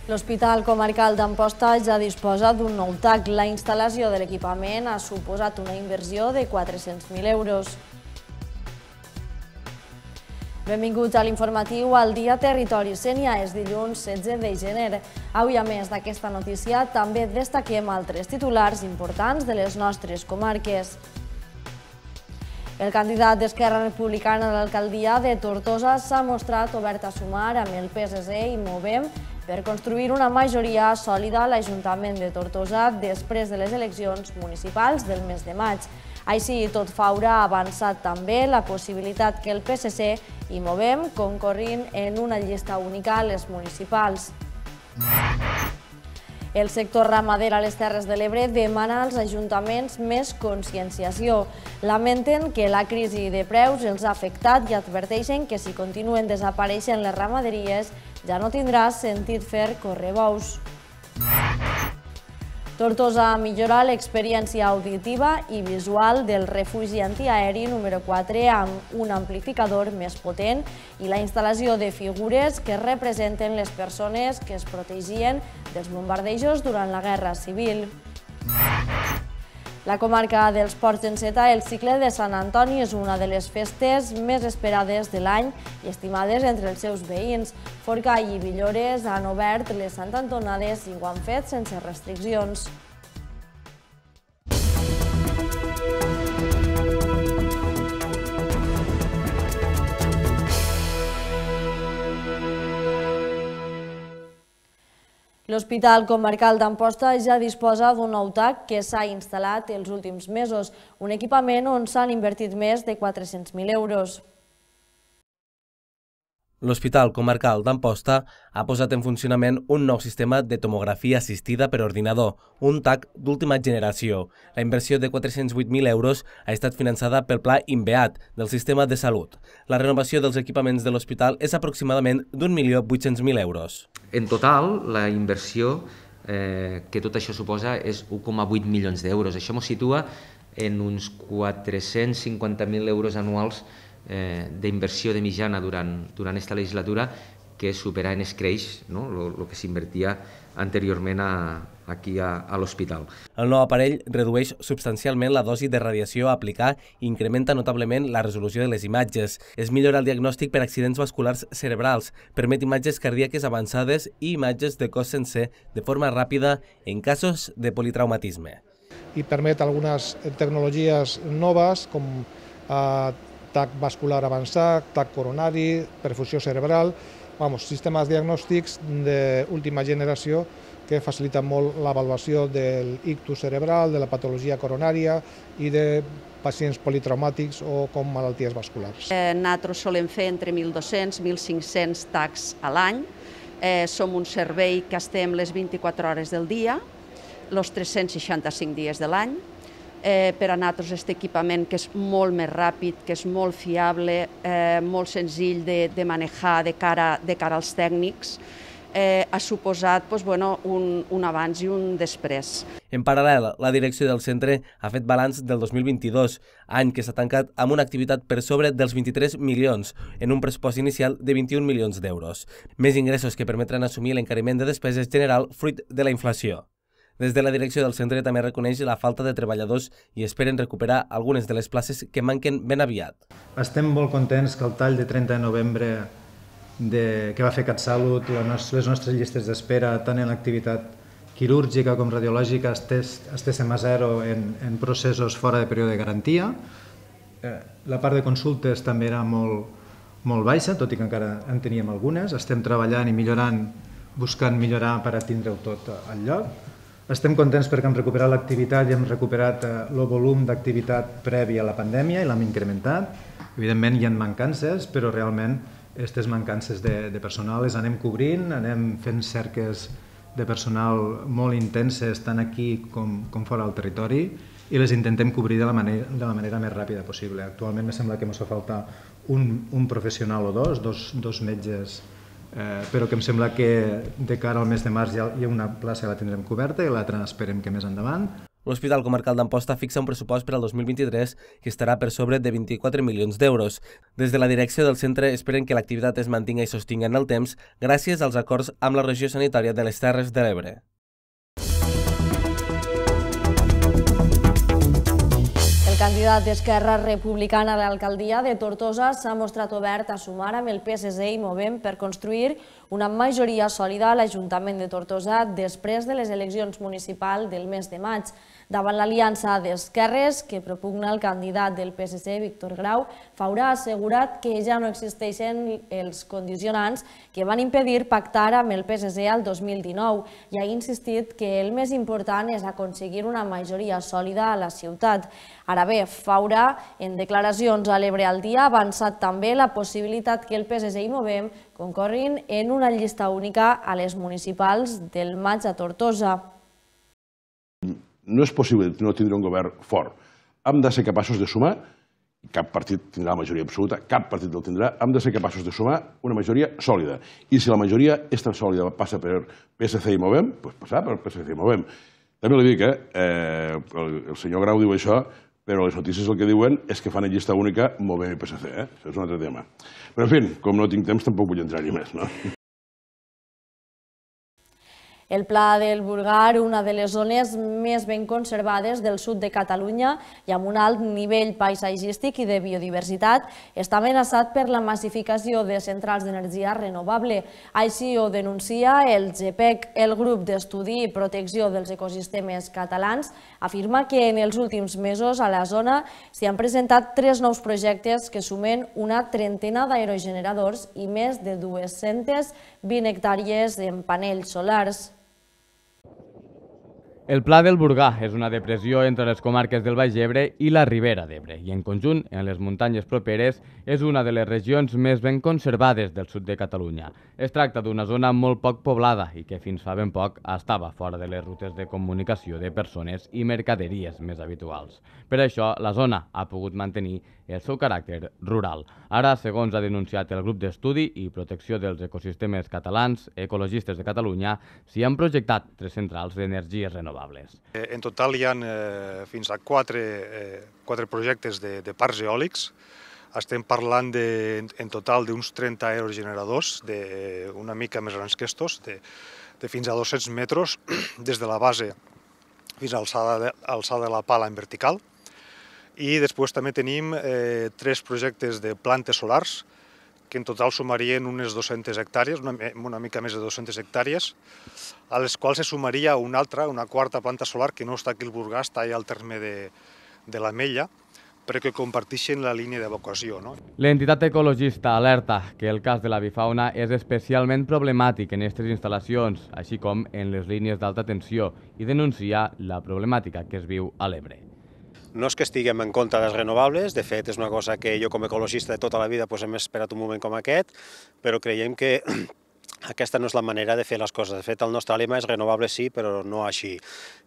L'Hospital Comarcal d'Amposta ja disposa d'un nou TAC. La instal·lació de l'equipament ha suposat una inversió de 400.000 euros. Benvinguts a l'informatiu al Dia Territori Sénia. És dilluns 16 de gener. Avui, a més d'aquesta notícia, també destaquem altres titulars importants de les nostres comarques. El candidat d'Esquerra Republicana a l'alcaldia de Tortosa s'ha mostrat obert a sumar amb el PSC i Movem per construir una majoria sòlida a l'Ajuntament de Tortosa després de les eleccions municipals del mes de maig. Així i tot, Faura ha avançat també la possibilitat que el PSC i Movem concorrin en una llista única a les municipals. El sector ramader a les Terres de l'Ebre demana als ajuntaments més conscienciació. Lamenten que la crisi de preus els ha afectat i adverteixen que si continuen desapareixent les ramaderies ja no tindrà sentit fer correbous. Tortosa millora l'experiència auditiva i visual del refugi antiaeri número 4 amb un amplificador més potent i la instal·lació de figures que representen les persones que es protegien dels bombardejos durant la Guerra Civil. La comarca dels Ports d'Enceta, el cicle de Sant Antoni, és una de les festes més esperades de l'any i estimades entre els seus veïns. Forcall i Villores han obert les santantonades i ho han fet sense restriccions. L'Hospital Comarcal d'Amposta ja disposa d'un nou TAC que s'ha instal·lat els últims mesos, un equipament on s'han invertit més de 400.000 euros. L'Hospital Comarcal d'Amposta ha posat en funcionament un nou sistema de tomografia assistida per ordinador, un TAC d'última generació. La inversió de 408.000 euros ha estat finançada pel Pla INVEAT del Sistema de Salut. La renovació dels equipaments de l'hospital és aproximadament d'1.800.000 euros. En total, la inversió que tot això suposa és 1,8 milions d'euros. Això ens situa en uns 450.000 euros anuals d'inversió de mitjana durant aquesta legislatura, que supera en escreix el que s'invertia anteriorment aquí a l'hospital. El nou aparell redueix substancialment la dosi de radiació a aplicar i incrementa notablement la resolució de les imatges. Es millora el diagnòstic per accidents vasculars cerebrals, permet imatges cardíaques avançades i imatges de cos sencer de forma ràpida en casos de politraumatisme. I permet algunes tecnologies noves com TAC vascular avançat, TAC coronari, perfusió cerebral, sistemes diagnòstics d'última generació que faciliten molt l'avaluació del ictus cerebral, de la patologia coronària i de pacients politraumàtics o com malalties vasculars. Nosaltres solem fer entre 1.200 i 1.500 TACs a l'any. Som un servei que estem les 24 hores del dia, els 365 dies de l'any. Per a nosaltres aquest equipament, que és molt més ràpid, que és molt fiable, molt senzill de manejar de cara als tècnics, ha suposat un abans i un després. En paral·lel, la direcció del centre ha fet balanç del 2022, any que s'ha tancat amb una activitat per sobre dels 23 milions, en un pressupost inicial de 21 milions d'euros. Més ingressos que permetran assumir l'encariment de despeses general fruit de la inflació. Des de la direcció del centre també reconeix la falta de treballadors i esperen recuperar algunes de les places que manquen ben aviat. Estem molt contents que el tall de 30 de novembre que va fer CatSalut, les nostres llistes d'espera, tant en l'activitat quirúrgica com radiològica, estéssim a zero en processos fora de període de garantia. La part de consultes també era molt baixa, tot i que encara en teníem algunes. Estem treballant i millorant, buscant millorar per a tindre-ho tot al lloc. Estem contents perquè hem recuperat l'activitat i hem recuperat el volum d'activitat previ a la pandèmia i l'hem incrementat. Evidentment hi ha mancances, però realment aquestes mancances de personal les anem cobrint, anem fent cerques de personal molt intenses tant aquí com fora del territori i les intentem cobrir de la manera més ràpida possible. Actualment em sembla que ens fa falta un professional o dos metges, però que em sembla que de cara al mes de març ja hi ha una plaça que la tindrem coberta i l'altra esperem que més endavant. l'Hospital Comarcal d'Amposta fixa un pressupost per al 2023 que estarà per sobre de 24 milions d'euros. Des de la direcció del centre esperen que l'activitat es mantingui i sostingui en el temps gràcies als acords amb la regió sanitària de les Terres de l'Ebre. El candidat d'Esquerra Republicana a l'alcaldia de Tortosa s'ha mostrat obert a sumar amb el PSC i Movem per construir una majoria sòlida a l'Ajuntament de Tortosa després de les eleccions municipals del mes de maig. Davant l'aliança d'esquerres que propugna el candidat del PSC, Víctor Grau, Faura ha assegurat que ja no existeixen els condicionants que van impedir pactar amb el PSC al 2019 i ha insistit que el més important és aconseguir una majoria sòlida a la ciutat. Ara bé, Faura, en declaracions a l'Ebre al Dia, ha avançat també la possibilitat que el PSC i Movem concorrin en una llista única a les municipals del maig a Tortosa. No és possible no tindre un govern fort. Hem de ser capaços de sumar, cap partit tindrà la majoria absoluta, cap partit el tindrà, hem de ser capaços de sumar una majoria sòlida. I si la majoria és tan sòlida passa per PSC i Movem, doncs passar per PSC i Movem. També li dic, el senyor Grau diu això, però les notícies el que diuen és que fan en llista única Movem i PSC. Això és un altre tema. Però, en fi, com no tinc temps, tampoc vull entrar-hi més, no? El Pla del Burgar, una de les zones més ben conservades del sud de Catalunya i amb un alt nivell paisatgístic i de biodiversitat, està amenaçat per la massificació de centrals d'energia renovable. Així ho denuncia el GPEC, el Grup d'Estudi i Protecció dels Ecosistemes Catalans, afirma que en els últims mesos a la zona s'hi han presentat 3 nous projectes que sumen una trentena d'aerogeneradors i més de 220 hectàrees en panells solars. El Pla del Burgar és una depressió entre les comarques del Baix Ebre i la Ribera d'Ebre i, en conjunt, en les muntanyes properes, és una de les regions més ben conservades del sud de Catalunya. Es tracta d'una zona molt poc poblada i que fins fa ben poc estava fora de les rutes de comunicació de persones i mercaderies més habituals. Per això, la zona ha pogut mantenir el seu caràcter rural. Ara, segons ha denunciat el Grup d'Estudi i Protecció dels Ecosistemes Catalans, Ecologistes de Catalunya, s'hi han projectat 3 centrals d'energies renovables. En total hi ha fins a 4 projectes de parcs eòlics. Estem parlant en total d'uns 30 aerogeneradors, una mica més grans que estos, de fins a 200 metres, des de la base fins a l'alçada de la pala en vertical. I després també tenim 3 projectes de plantes solars, que en total sumarien unes 200 hectàrees, una mica més de 200 hectàrees, a les quals se sumaria una 4a planta solar que no està aquí al Burgar, està allà al terme de l'Ametlla, però que comparteixen la línia d'evacuació. L'entitat ecologista alerta que el cas de l'avifauna és especialment problemàtic en aquestes instal·lacions, així com en les línies d'alta tensió, i denuncia la problemàtica que es viu a l'Ebre. No és que estiguem en contra dels renovables, de fet és una cosa que jo com a ecologista de tota la vida hem esperat un moment com aquest, però creiem que aquesta no és la manera de fer les coses. De fet, el nostre lema és renovable sí, però no així.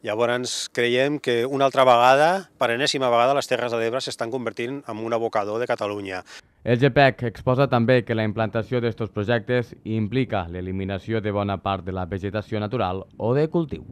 Llavors creiem que una altra vegada, per enèsima vegada, les Terres de l'Ebre s'estan convertint en un abocador de Catalunya. El GPEC exposa també que la implantació d'aquests projectes implica l'eliminació de bona part de la vegetació natural o de cultiu.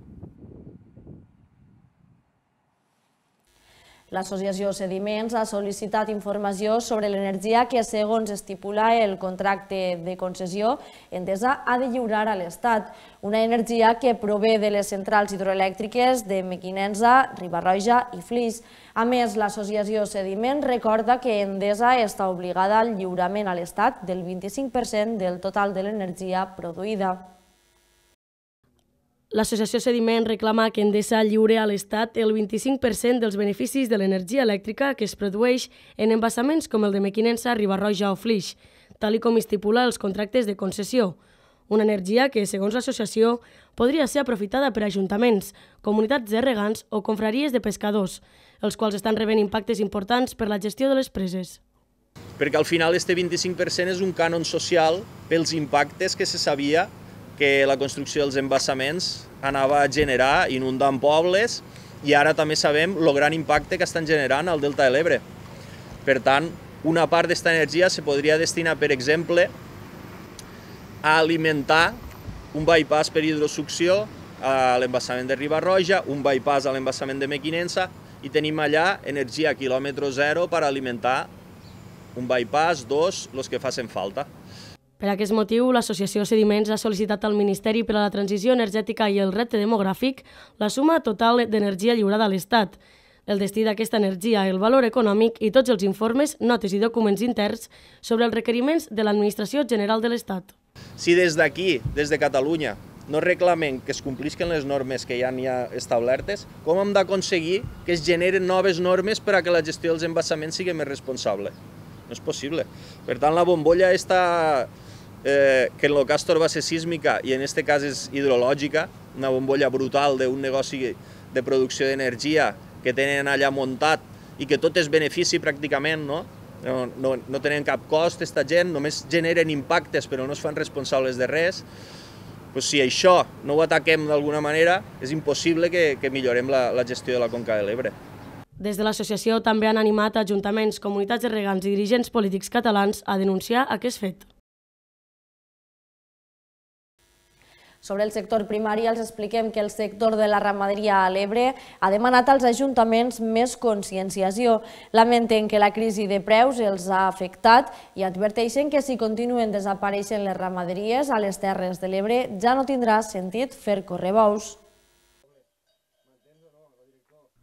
L'Associació Sediments ha sol·licitat informació sobre l'energia que, segons estipula el contracte de concessió, Endesa ha de lliurar a l'Estat. Una energia que prové de les centrals hidroelèctriques de Mequinensa, Riba-roja i Flix. A més, l'Associació Sediments recorda que Endesa està obligada al lliurament a l'Estat del 25% del total de l'energia produïda. L'Associació Sediment reclama que Endesa lliure a l'Estat el 25% dels beneficis de l'energia elèctrica que es produeix en embassaments com el de Mequinensa, Riba-roja o Flix, tal com estipula els contractes de concessió. Una energia que, segons l'associació, podria ser aprofitada per ajuntaments, comunitats de regants o confraries de pescadors, els quals estan rebent impactes importants per la gestió de les preses. Perquè al final este 25% és un cànon social pels impactes que se sabia que la construcció dels embassaments anava a generar inundant pobles i ara també sabem el gran impacte que estan generant al Delta de l'Ebre. Per tant, una part d'aquesta energia se podria destinar, per exemple, a alimentar un bypass per hidrosucció a l'embassament de Riba-roja, un bypass a l'embassament de Mequinensa i tenim allà energia a quilòmetre zero per alimentar un bypass, dos, els que facin falta. Per aquest motiu, l'Associació Sediments ha sol·licitat al Ministeri per a la Transició Energètica i el Repte Demogràfic la suma total d'energia lliurada a l'Estat, el destí d'aquesta energia, el valor econòmic i tots els informes, notes i documents interns sobre els requeriments de l'Administració General de l'Estat. Si des d'aquí, des de Catalunya, no reclamem que es complisquen les normes que ja n'hi ha establertes, com hem d'aconseguir que es generen noves normes per a que la gestió dels embassaments sigui més responsable? No és possible. Per tant, la bombolla està, que en el Castor va ser sísmica i en aquest cas és hidrològica, una bombolla brutal d'un negoci de producció d'energia que tenen allà muntat i que tot és benefici pràcticament, no? No tenen cap cost, aquesta gent, només generen impactes però no es fan responsables de res. Si això no ho ataquem d'alguna manera, és impossible que millorem la gestió de la Conca de l'Ebre. Des de l'associació també han animat ajuntaments, comunitats de regants i dirigents polítics catalans a denunciar aquest fet. Sobre el sector primari els expliquem que el sector de la ramaderia a l'Ebre ha demanat als ajuntaments més conscienciació. Lamenten que la crisi de preus els ha afectat i adverteixen que si continuen desapareixent les ramaderies a les Terres de l'Ebre ja no tindrà sentit fer córrer bous.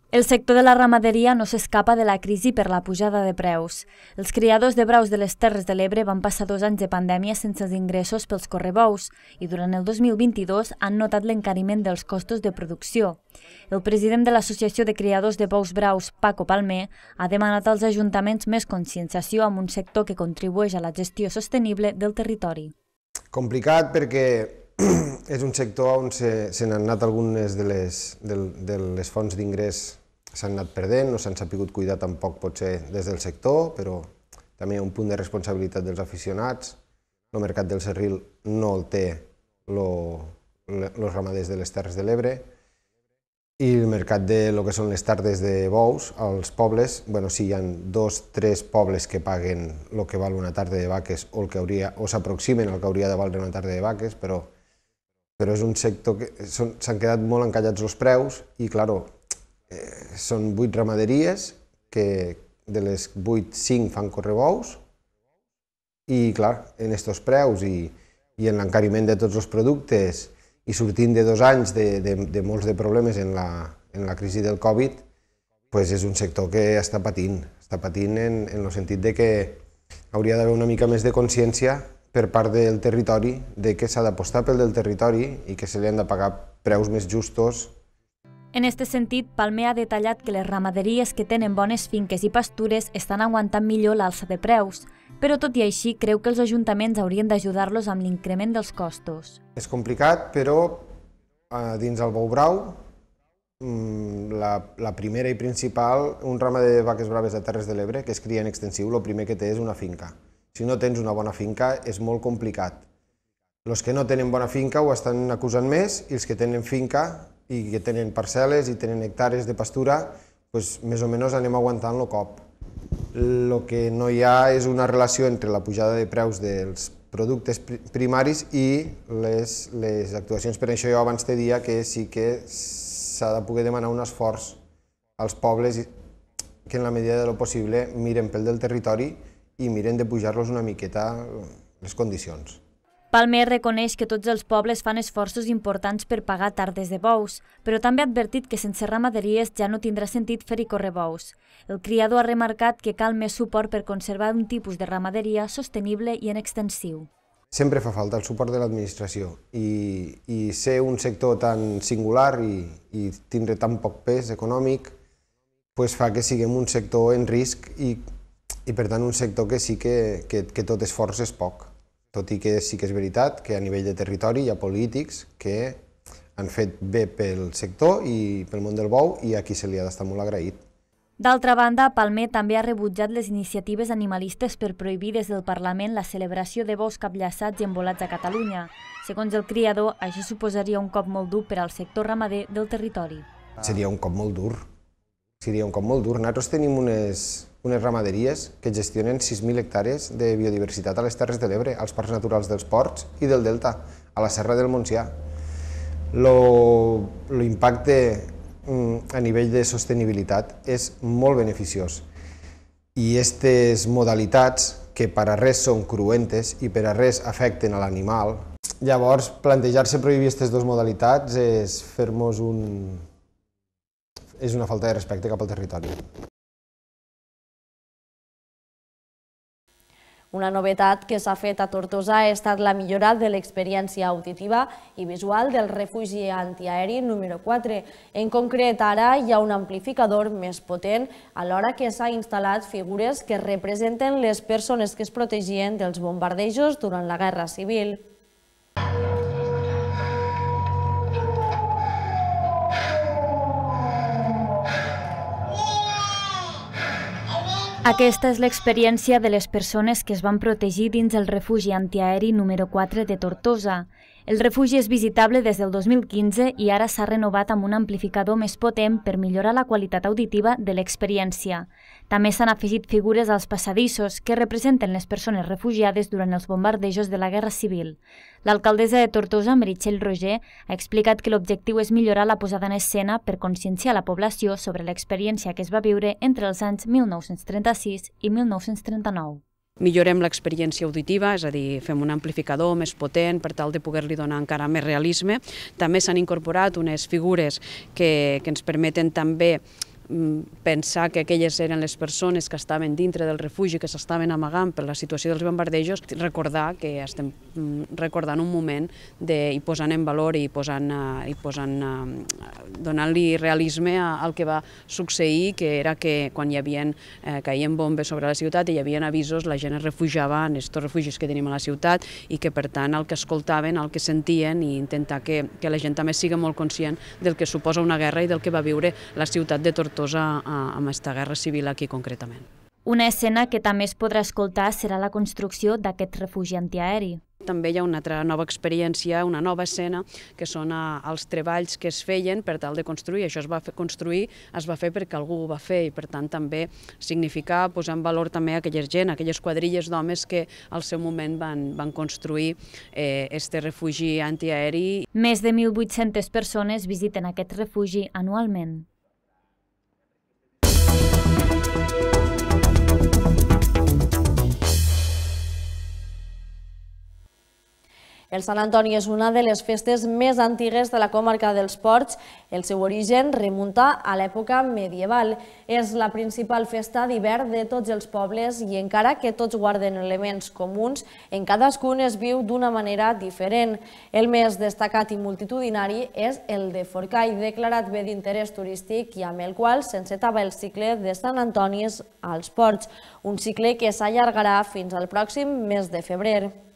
El sector de la ramaderia no s'escapa de la crisi per la pujada de preus. Els criadors de braus de les Terres de l'Ebre van passar 2 anys de pandèmia sense els ingressos pels correbous i durant el 2022 han notat l'encariment dels costos de producció. El president de l'Associació de Criadors de Bous Braus, Paco Palmer, ha demanat als ajuntaments més conscienciació amb un sector que contribueix a la gestió sostenible del territori. Complicat perquè és un sector on se n'han anat algunes de les fonts d'ingrés, s'han anat perdent, no s'han sabut cuidar tampoc potser des del sector, però també hi ha un punt de responsabilitat dels aficionats. El mercat del serril no el té els ramaders de les Terres de l'Ebre i el mercat de lo que són les tardes de bous, als pobles, sí, hi ha 2 o 3 pobles que paguen el que val una tarda de vaques o s'aproximen al que hauria de valdre una tarda de vaques, però és un sector que s'han quedat molt encallats els preus i, clar, són 8 ramaderies que de les 8, 5 fan correbous i, clar, en aquests preus i en l'encariment de tots els productes i sortint de 2 anys de molts de problemes en la crisi del Covid, és un sector que està patint en el sentit que hauria d'haver una mica més de consciència per part del territori de que s'ha d'apostar pel del territori i que se li han de pagar preus més justos. En aquest sentit, Palmer ha detallat que les ramaderies que tenen bones finques i pastures estan aguantant millor l'alça de preus, però tot i així creu que els ajuntaments haurien d'ajudar-los amb l'increment dels costos. És complicat, però dins el bou brau, la primera i principal, un ramader de vaques braves a Terres de l'Ebre que es cria en extensiu, el primer que té és una finca. Si no tens una bona finca és molt complicat. Els que no tenen bona finca ho estan acusant més i els que tenen finca i que tenen parcel·les i tenen hectàrees de pastura, més o menys anem aguantant el cop. El que no hi ha és una relació entre la pujada de preus dels productes primaris i les actuacions. Per això jo abans te dia que sí que s'ha de poder demanar un esforç als pobles que en la medida de lo possible miren pel del territori i miren de pujar-los una miqueta les condicions. Palmer reconeix que tots els pobles fan esforços importants per pagar tardes de bous, però també ha advertit que sense ramaderies ja no tindrà sentit fer-hi córrer bous. El criador ha remarcat que cal més suport per conservar un tipus de ramaderia sostenible i en extensiu. Sempre fa falta el suport de l'administració i ser un sector tan singular i tindre tan poc pes econòmic fa que siguem un sector en risc i per tant un sector que sí que tot esforç és poc. Tot i que sí que és veritat que a nivell de territori hi ha polítics que han fet bé pel sector i pel món del bou i a qui se li ha d'estar molt agraït. D'altra banda, Palmer també ha rebutjat les iniciatives animalistes per prohibir des del Parlament la celebració de bous capllaçats i embolats a Catalunya. Segons el criador, això suposaria un cop molt dur per al sector ramader del territori. Seria un cop molt dur. Nosaltres tenim unes ramaderies que gestionen 6.000 hectàrees de biodiversitat a les Terres de l'Ebre, als parcs naturals dels Ports i del Delta, a la Serra del Montsià. l'impacte a nivell de sostenibilitat és molt beneficiós. I aquestes modalitats, que per a res són cruentes i per a res afecten a l'animal, llavors plantejar-se prohibir aquestes dues modalitats és fer-nos és una falta de respecte cap al territori. Una novetat que s'ha fet a Tortosa ha estat la millora de l'experiència auditiva i visual del refugi antiaeri número 4. En concret, ara hi ha un amplificador més potent, alhora que s'ha instal·lat figures que representen les persones que es protegien dels bombardejos durant la Guerra Civil. Aquesta és l'experiència de les persones que es van protegir dins el refugi antiaeri número 4 de Tortosa. El refugi és visitable des del 2015 i ara s'ha renovat amb un amplificador més potent per millorar la qualitat auditiva de l'experiència. També s'han afegit figures als passadissos que representen les persones refugiades durant els bombardejos de la Guerra Civil. L'alcaldessa de Tortosa, Meritxell Roger, ha explicat que l'objectiu és millorar la posada en escena per conscienciar la població sobre l'experiència que es va viure entre els anys 1936 i 1939. Millorem l'experiència auditiva, és a dir, fem un amplificador més potent per tal de poder-li donar encara més realisme. També s'han incorporat unes figures que ens permeten també pensar que aquelles eren les persones que estaven dintre del refugi, que s'estaven amagant per la situació dels bombardejos, recordar que estem recordant un moment i posant en valor i donant-li realisme al que va succeir, que era que quan caien bombes sobre la ciutat i hi havia avisos, la gent es refugiava en aquests refugis que tenim a la ciutat i que per tant el que escoltaven, el que sentien i intentar que la gent també sigui molt conscient del que suposa una guerra i del que va viure la ciutat de Tortosa amb aquesta guerra civil aquí concretament. Una escena que també es podrà escoltar serà la construcció d'aquest refugi antiaeri. També hi ha una altra nova experiència, una nova escena, que són els treballs que es feien per tal de construir. Això es va fer perquè algú ho va fer i per tant també significar posar en valor també aquella gent, aquelles quadrilles d'homes que al seu moment van construir este refugi antiaeri. Més de 1.800 persones visiten aquest refugi anualment. El Sant Antoni és una de les festes més antigues de la comarca dels Ports. El seu origen remunta a l'època medieval. És la principal festa d'hivern de tots els pobles i encara que tots guarden elements comuns, en cadascun es viu d'una manera diferent. El més destacat i multitudinari és el de Forcall, declarat bé d'interès turístic i amb el qual s'encetava el cicle de Sant Antoni als Ports, un cicle que s'allargarà fins al pròxim mes de febrer.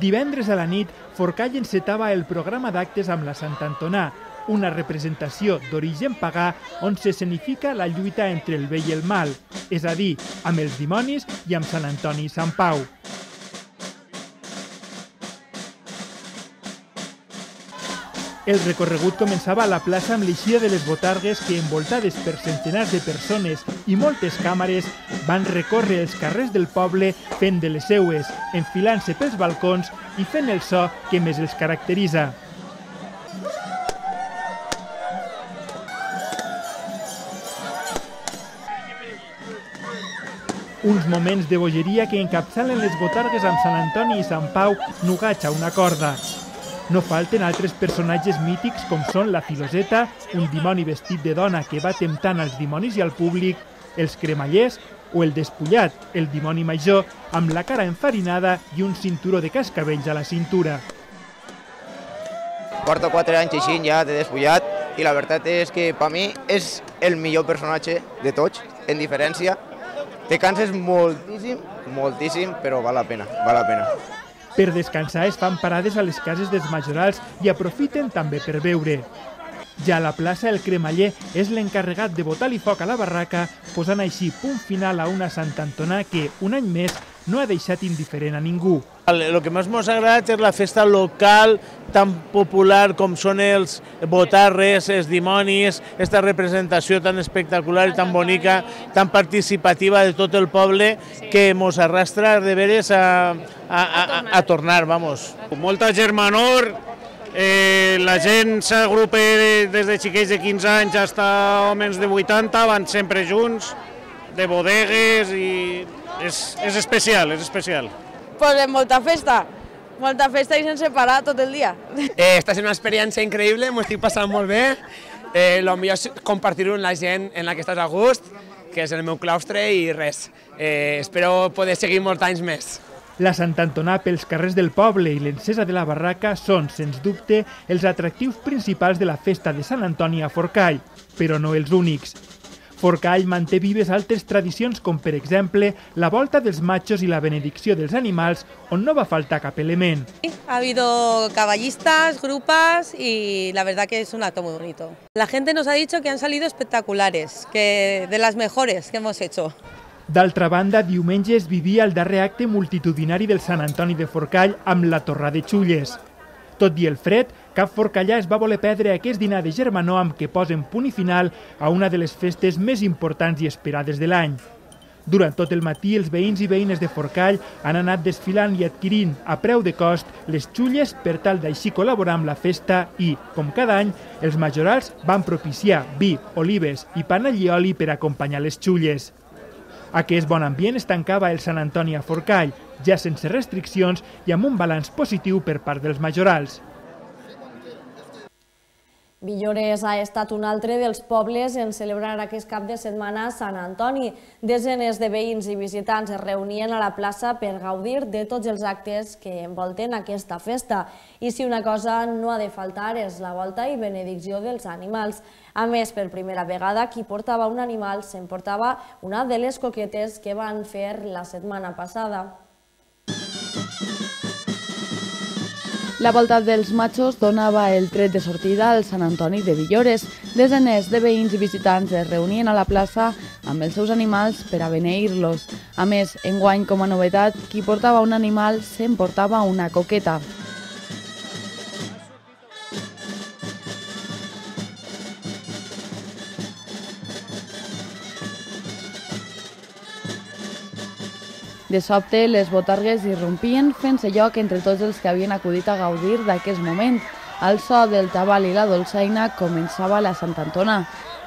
Divendres a la nit, Forcall encetava el programa d'actes amb la Sant Antonà, una representació d'origen pagà on s'escenifica la lluita entre el bé i el mal, és a dir, amb els dimonis i amb Sant Antoni i Sant Pau. El recorregut començava a la plaça amb l'eixida de les botargues que, envoltades per centenars de persones i moltes càmeres, van recórrer els carrers del poble fent de les seues, enfilant-se pels balcons i fent el so que més els caracteritza. Uns moments de bogeria que encapçalen les botargues amb Sant Antoni i Sant Pau nugats a una corda. No falten altres personatges mítics com són la Filoseta, un dimoni vestit de dona que va temptant als dimonis i al públic, els cremallers o el Despullat, el dimoni major, amb la cara enfarinada i un cinturó de cascabells a la cintura. Porto 4 anys així ja de Despullat i la veritat és que per mi és el millor personatge de tots, en diferència. Te canses moltíssim, però val la pena, val la pena. Per descansar es fan parades a les cases dels majorals i aprofiten també per beure. Ja a la plaça el cremaller és l'encarregat de botar-li foc a la barraca, posant així punt final a una Sant Antonà que, un any més, no ha deixat indiferent a ningú. El que més ens agrada és la festa local tan popular com són els botarres, els dimonis, aquesta representació tan espectacular i tan bonica, tan participativa de tot el poble que ens arrastra de veres a tornar, vamos. Molta germanor La gent s'agrupa des de xiquets de 15 anys fins a homes de 80, van sempre junts, de bodegues, i és especial, és especial. Pues molta festa i sense parar tot el dia. Està sent una experiència increïble, m'ho estic passant molt bé. El millor és compartir-ho amb la gent en la que estàs a gust, que és el meu claustre, i res. Espero poder seguir molts anys més. La Sant Antonà pels carrers del poble i l'encesa de la barraca són, sens dubte, els atractius principals de la festa de Sant Antoni a Forcall, però no els únics. Forcall manté vives altres tradicions com, per exemple, la volta dels machos i la benedicció dels animals, on no va faltar cap element. Ha habido caballistas, grupas y la verdad que es un acto muy bonito. La gente nos ha dicho que han salido espectaculares, que de las mejores que hemos hecho. D'altra banda, diumenge es vivia el darrer acte multitudinari del Sant Antoni de Forcall amb la Torrà de Xulles. Tot i el fred, cap forcallà es va voler perdre aquest dinar de germanor amb què posen punt i final a una de les festes més importants i esperades de l'any. Durant tot el matí, els veïns i veïnes de Forcall han anat desfilant i adquirint a preu de cost les xulles per tal d'així col·laborar amb la festa i, com cada any, els majorals van propiciar vi, olives i pa allioli per acompanyar les xulles. Aquest bon ambient es tancava el Sant Antoni a Forcall, ja sense restriccions i amb un balanç positiu per part dels majorals. Villores ha estat un altre dels pobles en celebrar aquest cap de setmana Sant Antoni. Desenes de veïns i visitants es reunien a la plaça per gaudir de tots els actes que envolten aquesta festa. I si una cosa no ha de faltar és la volta i benedicció dels animals. A més, per primera vegada, qui portava un animal s'emportava una de les coquetes que van fer la setmana passada. La volta dels machos donava el tret de sortida al Sant Antoni de Villores. Desenes de veïns i visitants es reunien a la plaça amb els seus animals per a beneir-los. A més, enguany, com a novetat, qui portava un animal s'emportava una coqueta. De sobte, les botargues irrompien fent-se lloc entre tots els que havien acudit a gaudir d'aquest moment. Al so del tabal i la dolçaina començava la Sant Antona.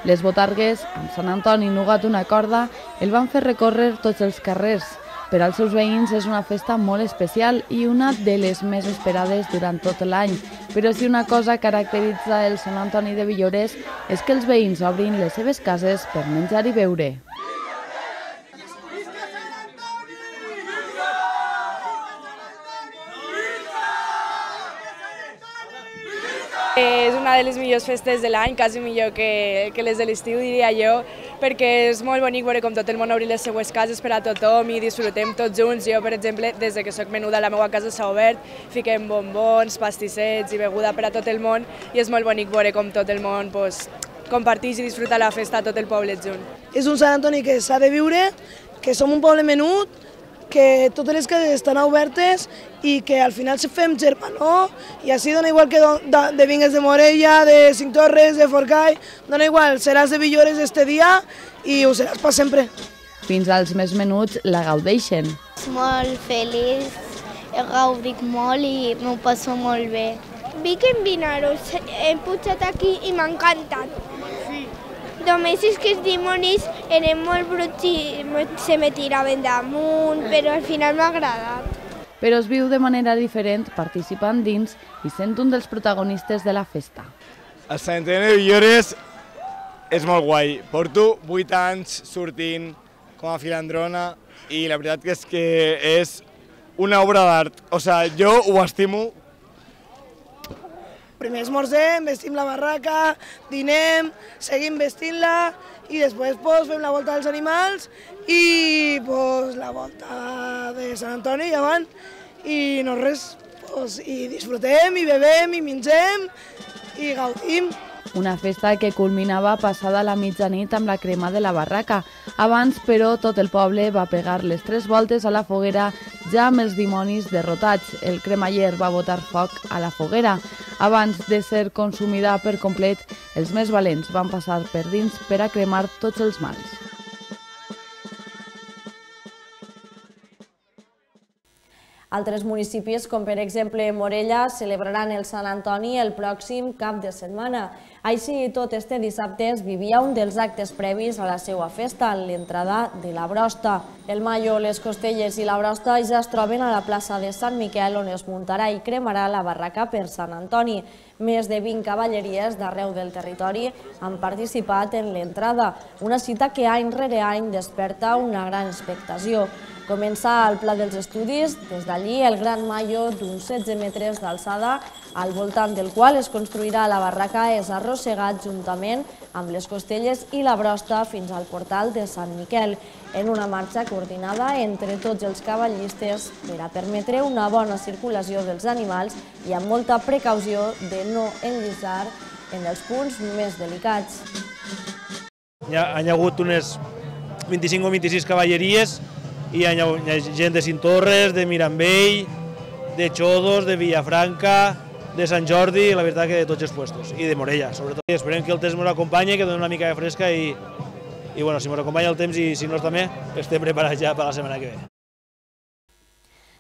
Les botargues, amb Sant Antoni nugat una corda, el van fer recórrer tots els carrers. Per als seus veïns és una festa molt especial i una de les més esperades durant tot l'any. Però si una cosa caracteritza el Sant Antoni de Villores és que els veïns obrin les seves cases per menjar i beure. És una de les millors festes de l'any, quasi millor que les de l'estiu, diria jo, perquè és molt bonic veure com tot el món obri les seues cases per a tothom i disfrutem tots junts. Jo, per exemple, des que soc menuda, la meva casa s'ha obert, fiquem bombons, pastissets i beguda per a tot el món i és molt bonic veure com tot el món comparteix i disfruta la festa tot el poble junt. És un Sant Antoni que s'ha de viure, que som un poble menut, que totes les cases estan obertes i que al final fem germanor i així dona igual que de vingues de Morella, de Cinctorres, de Forcall, dona igual, seràs de Villores este dia i ho seràs per sempre. Fins als més menuts la gaudeixen. És molt feliç, he gaudit molt i m'ho passo molt bé. Vic en Vinaros, he pujat aquí i m'ha encantat. Només és que els dimonis eren molt bruts i se me tiraven damunt, però al final m'ha agradat. Però es viu de manera diferent participant dins i sent un dels protagonistes de la festa. El Sant Antoni de Villores és molt guai. Porto 8 anys sortint com a filandrona i la veritat és que és una obra d'art. O sigui, jo ho estimo. Primer esmorzem, vestim la barraca, dinem, seguim vestint-la i després fem la volta dels animals i la volta de Sant Antoni i avant i no res, i disfrutem i bebem i mengem i gaudim. Una festa que culminava passada la mitjanit amb la crema de la barraca. Abans, però, tot el poble va pegar les 3 voltes a la foguera ja amb els dimonis derrotats. El cremaller va botar foc a la foguera. Abans de ser consumida per complet, els més valents van passar per dins per a cremar tots els mals. Altres municipis, com per exemple Morella, celebraran el Sant Antoni el pròxim cap de setmana. Així i tot, este dissabte es vivia un dels actes previs a la seva festa, l'entrada de la brosta. El mallo, les costelles i la brosta ja es troben a la plaça de Sant Miquel, on es muntarà i cremarà la barraca per Sant Antoni. Més de 20 cavalleries d'arreu del territori han participat en l'entrada, una cita que any rere any desperta una gran expectació. Comença al Pla dels Estudis, des d'allí el gran mallo d'uns 16 metres d'alçada, al voltant del qual es construirà la barraca, és arrossegat juntament amb les costelles i la brosta fins al portal de Sant Miquel, en una marxa coordinada entre tots els cavallistes per a permetre una bona circulació dels animals i amb molta precaució de no enllissar en els punts més delicats. Hi ha hagut unes 25 o 26 cavalleries i hi ha gent de Cintorres, de Mirambell, de Xodos, de Villafranca, de Sant Jordi, la veritat que de tots els puestos, i de Morella, sobretot. Esperem que el temps ens acompanyi, que doni una mica de fresca i si ens acompanya el temps i si no també, estem preparats ja per la setmana que ve.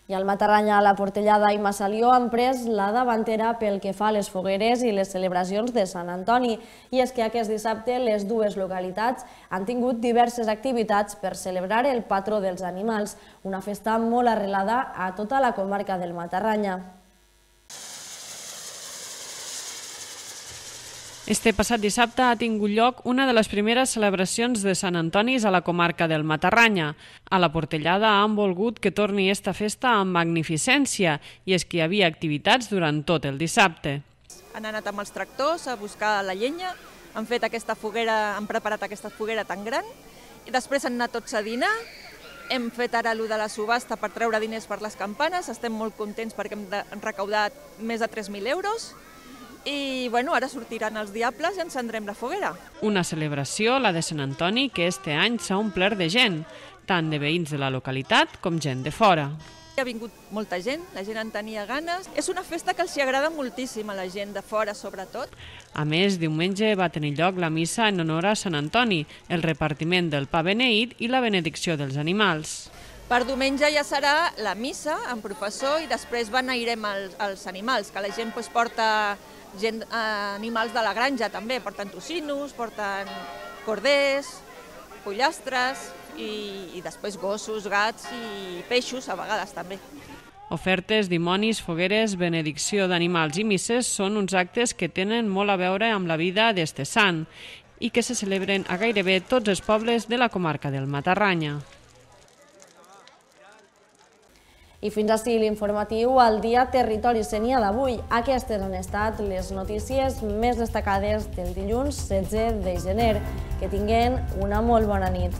I al Matarranya, la Portellada i Massalió han pres la davantera pel que fa a les fogueres i les celebracions de Sant Antoni. I és que aquest dissabte les dues localitats han tingut diverses activitats per celebrar el patró dels animals, una festa molt arrelada a tota la comarca del Matarranya. Este passat dissabte ha tingut lloc una de les primeres celebracions de Sant Antoni a la comarca del Matarranya. A la Portellada han volgut que torni esta festa amb magnificència i és que hi havia activitats durant tot el dissabte. Han anat amb els tractors a buscar la llenya, han fet aquesta foguera, han preparat aquesta foguera tan gran i després han anat tots a dinar. Hem fet ara allò de la subhasta per treure diners per les campanes, estem molt contents perquè hem recaudat més de 3.000 euros. I ara sortiran els diables i encendrem la foguera. Una celebració, la de Sant Antoni, que este any s'ha omplert de gent, tant de veïns de la localitat com gent de fora. Ha vingut molta gent, la gent en tenia ganes. És una festa que els agrada moltíssim a la gent de fora, sobretot. A més, diumenge va tenir lloc la missa en honor a Sant Antoni, el repartiment del pa beneït i la benedicció dels animals. Per diumenge ja serà la missa amb professor i després beneirem els animals, que la gent porta animals de la granja també, porten tocinos, porten corders, pollastres i després gossos, gats i peixos a vegades també. Ofertes, dimonis, fogueres, benedicció d'animals i misses són uns actes que tenen molt a veure amb la vida d'este sant i que se celebren a gairebé tots els pobles de la comarca del Matarranya. I fins ací l'informatiu al Dia Territori Sénia d'avui. Aquestes han estat les notícies més destacades del dilluns 16 de gener. Que tinguin una molt bona nit.